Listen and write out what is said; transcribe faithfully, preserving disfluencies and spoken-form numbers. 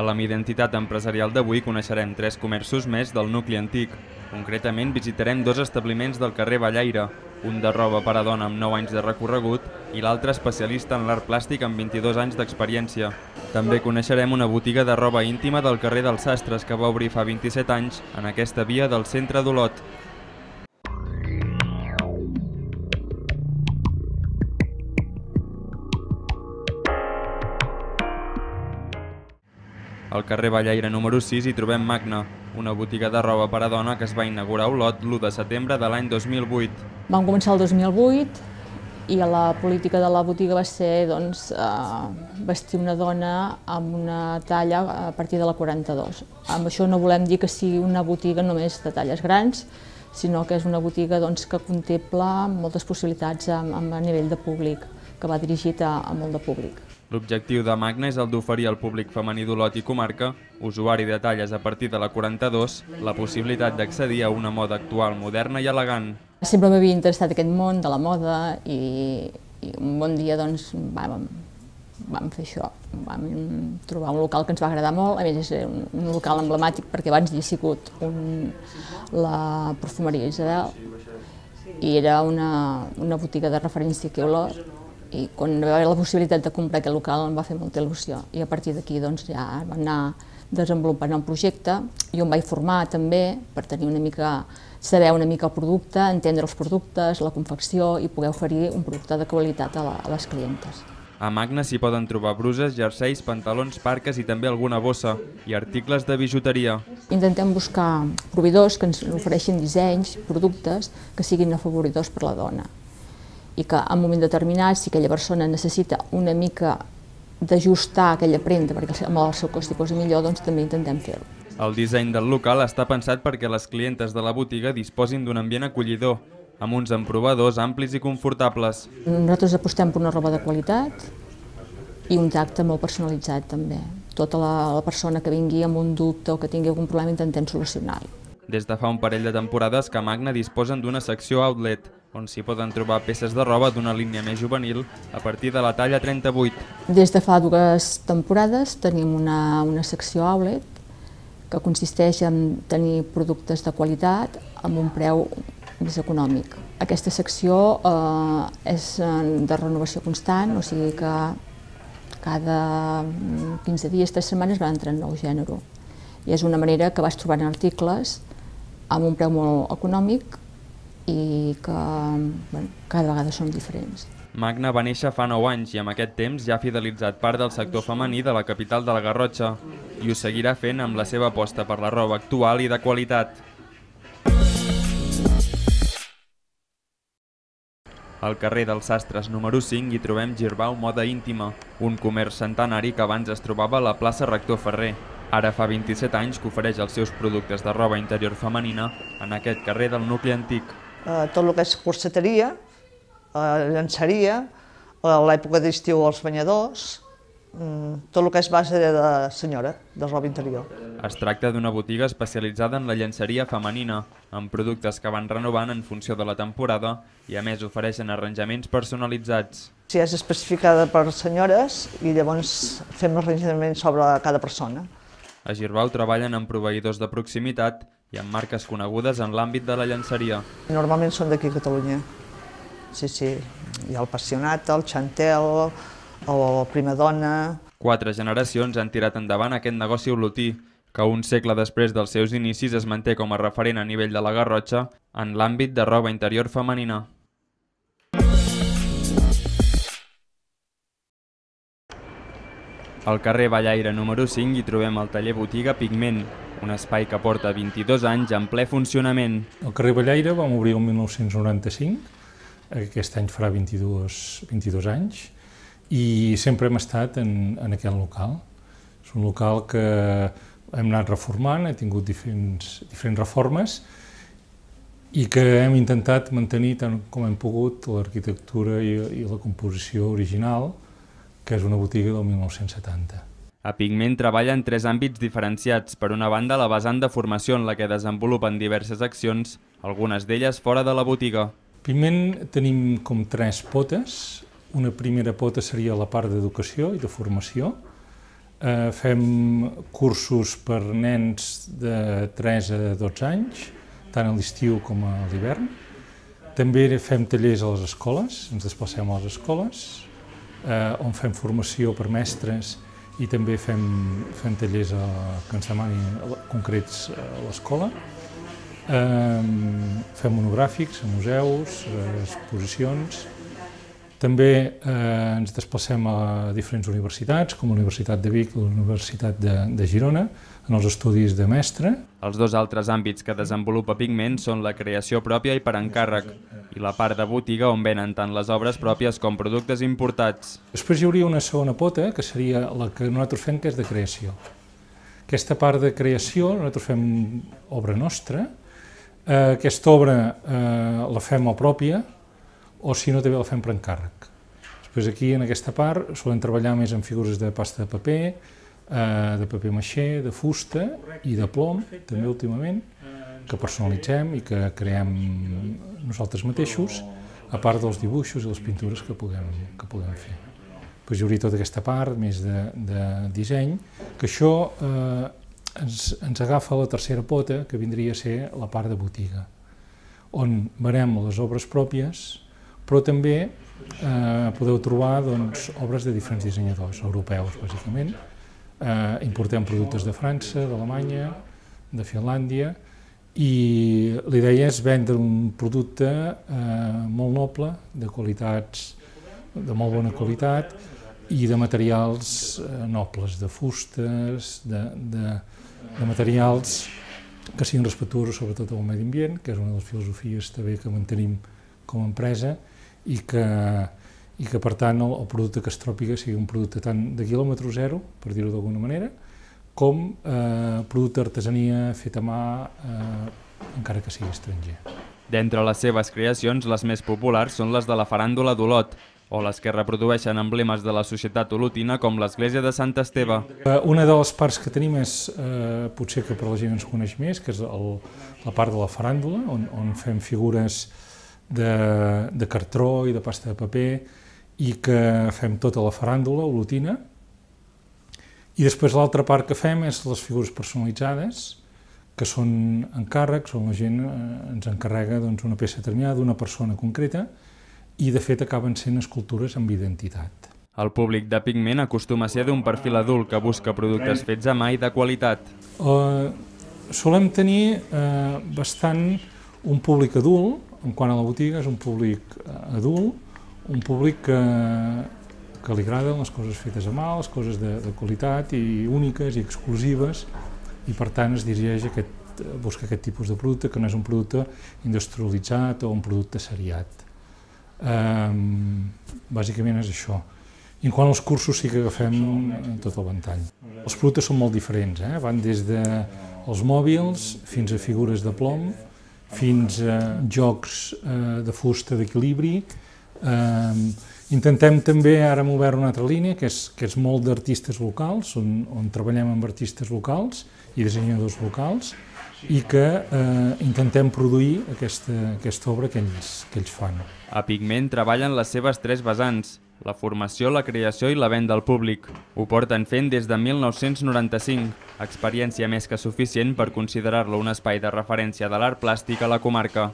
A l'Am Identitat Empresarial d'avui coneixerem tres comerços més del nucli antic. Concretament visitarem dos establiments del carrer Ballaire, un de roba per a dona amb nou anys de recorregut i l'altre especialista en l'art plàstic amb vint-i-dos anys d'experiència. També coneixerem una botiga de roba íntima del carrer dels Sastres que va obrir fa vint-i-set anys en aquesta via del centre d'Olot. Al carrer Ballaire número sis hi trobem Magna, una botiga de roba per a dona que es va inaugurar a Olot l'u de setembre de l'any dos mil vuit. Vam començar el dos mil vuit i la política de la botiga va ser doncs, eh, vestir una dona amb una talla a partir de la quaranta-dos. Amb això no volem dir que sigui una botiga només de talles grans, sinó que és una botiga doncs, que contempla moltes possibilitats a, a nivell de públic, que va dirigit a, a molt de públic. L'objectiu de Magna és el d'oferir al públic femení d'Olot i comarca, usuari de talles a partir de la quaranta-dos, la possibilitat d'accedir a una moda actual, moderna i elegant. Sempre m'havia interessat aquest món de la moda i, i un bon dia doncs, vam, vam fer això. Vam trobar un local que ens va agradar molt, a més és un, un local emblemàtic perquè abans hi ha sigut un, la perfumeria Isabel i era una, una botiga de referència aquí a Olot. I quan va haver la possibilitat de comprar aquest local em va fer molta il·lusió i a partir d'aquí doncs, ja vam anar desenvolupant el projecte. Jo em vaig formar també per tenir una mica, saber una mica el producte, entendre els productes, la confecció i poder oferir un producte de qualitat a, la, a les clientes. A Magna s'hi poden trobar bruses, jerseis, pantalons, parques i també alguna bossa i articles de bijuteria. Intentem buscar proveïdors que ens ofereixin dissenys, productes que siguin afavoridors per la dona. I que en un moment determinat, si aquella persona necessita una mica d'ajustar aquella prenda perquè amb el seu cost hi posi millor, doncs també intentem fer-ho. El disseny del local està pensat perquè les clientes de la botiga disposin d'un ambient acollidor, amb uns emprovadors amplis i confortables. Nosaltres apostem per una roba de qualitat i un tacte molt personalitzat també. Tota la, la persona que vingui amb un dubte o que tingui algun problema intentem solucionar-lo. Des de fa un parell de temporades que a Magna disposen d'una secció outlet, on s'hi poden trobar peces de roba d'una línia més juvenil a partir de la talla trenta-vuit. Des de fa dues temporades tenim una, una secció outlet que consisteix en tenir productes de qualitat amb un preu més econòmic. Aquesta secció eh, és de renovació constant, o sigui que cada quinze dies, tres setmanes va entrar en nou gènere. I és una manera que vas trobant articles amb un preu molt econòmic i que bueno, cada vegada són diferents. Magna va néixer fa nou anys i amb aquest temps ja ha fidelitzat part del sector femení de la capital de la Garrotxa i ho seguirà fent amb la seva aposta per la roba actual i de qualitat. Al carrer dels Sastres número cinc hi trobem Girbau Moda Íntima, un comerç centenari que abans es trobava a la plaça Rector Ferrer. Ara fa vint-i-set anys que ofereix els seus productes de roba interior femenina en aquest carrer del nucli antic. Eh, tot el que és corseteria, eh, llançaria, a l'època d'estiu els banyadors, mm, tot el que és base de senyora, de roba interior. Es tracta d'una botiga especialitzada en la llenceria femenina, amb productes que van renovant en funció de la temporada i a més ofereixen arranjaments personalitzats. Si és especificada per senyores i llavors fem l'arranjament sobre cada persona. A Girbau treballen amb proveïdors de proximitat i amb marques conegudes en l'àmbit de la llenceria. Normalment són d'aquí a Catalunya. Sí, sí. Hi ha el Passionata, el Chantel, el Primadonna. Quatre generacions han tirat endavant aquest negoci olotí, que un segle després dels seus inicis es manté com a referent a nivell de la Garrotxa en l'àmbit de roba interior femenina. Al carrer Ballaire número cinc hi trobem el taller botiga Pigment, un espai que porta vint-i-dos anys en ple funcionament. El carrer Ballaire vam obrir el mil nou-cents noranta-cinc, aquest any farà vint-i-dos, vint-i-dos anys, i sempre hem estat en, en aquest local. És un local que hem anat reformant, ha tingut diferents, diferents reformes i que hem intentat mantenir tant com hem pogut l'arquitectura i, i la composició original, que és una botiga del mil nou-cents setanta. A Pigment treballa en tres àmbits diferenciats. Per una banda, la vessant de formació en la que desenvolupen diverses accions, algunes d'elles fora de la botiga. Pigment tenim com tres potes. Una primera pota seria la part d'educació i de formació, eh, fem cursos per nens de tres a dotze anys, tant a l'estiu com a l'hivern. També fem tallers a les escoles, ens desplacem a les escoles, eh, on fem formació per mestres i també fem, fem tallers a, que ens demanin concrets a l'escola. Eh, fem monogràfics a museus, a exposicions. També eh, ens desplacem a diferents universitats, com la Universitat de Vic i la Universitat de, de Girona, en els estudis de mestre. Els dos altres àmbits que desenvolupa Pigment són la creació pròpia i per encàrrec, i la part de botiga on venen tant les obres pròpies com productes importats. Després hi hauria una segona pota, que seria la que nosaltres fem, que és de creació. Aquesta part de creació, nosaltres fem obra nostra. Eh, aquesta obra eh, la fem a pròpia, o si no també la fem per encàrrec. Després aquí, en aquesta part, solem treballar més en figures de pasta de paper, eh, de paper maixé, de fusta i de plom, també últimament, que personalitzem i que creem nosaltres mateixos, a part dels dibuixos i les pintures que puguem, que puguem fer. Després hi hauria tota aquesta part més de, de disseny, que això eh, ens, ens agafa la tercera pota, que vindria a ser la part de botiga, on venem les obres pròpies, però també eh, podeu trobar doncs, obres de diferents dissenyadors europeus, bàsicament. Eh, importem productes de França, d'Alemanya, de Finlàndia, i la idea és vendre un producte eh, molt noble, de qualitats, de molt bona qualitat, i de materials eh, nobles, de fustes, de, de, de materials que siguin respectuosos sobretot al medi ambient, que és una de les filosofies també que mantenim com a empresa, i que, i que per tant el, el producte que es trobi sigui un producte tant de quilòmetre zero, per dir-ho d'alguna manera, com eh, producte d'artesania fet a mà, eh, encara que sigui estranger. D'entre les seves creacions, les més populars són les de la faràndula d'Olot, o les que reprodueixen emblemes de la societat olotina com l'església de Sant Esteve. Una de les parts que tenim és, eh, potser que per la gent ens coneix més, que és el, la part de la faràndula, on, on fem figures de, de cartró i de pasta de paper i que fem tota la faràndula olotina. I després l'altra part que fem és les figures personalitzades, que són encàrrecs, on la gent eh, ens encarrega doncs, una peça determinada d'una persona concreta, i de fet acaben sent escultures amb identitat. El públic de Pigment acostuma a ser d'un perfil adult que busca productes fets a mà i de qualitat. Uh, solem tenir uh, bastant un públic adult, en quant a la botiga és un públic uh, adult, un públic que, que li agraden les coses fetes a mà, les coses de, de qualitat i úniques i exclusives, i per tant es dirigeix a aquest, busca aquest tipus de producte, que no és un producte industrialitzat o un producte seriat. Um, bàsicament és això. I en quant als cursos sí que agafem tot el ventall. Els productes són molt diferents, eh? Van des dels mòbils fins a figures de plom, fins a jocs eh, de fusta d'equilibri. Eh, intentem també, ara hem obert una altra línia, que és, que és molt d'artistes locals, on, on treballem amb artistes locals i dissenyadors locals, i que eh, intentem produir aquesta, aquesta obra que ells, que ells fan. A Pigment treballen les seves tres vessants, la formació, la creació i la venda al públic. Ho porten fent des de mil nou-cents noranta-cinc, experiència més que suficient per considerar-lo un espai de referència de l'art plàstic a la comarca.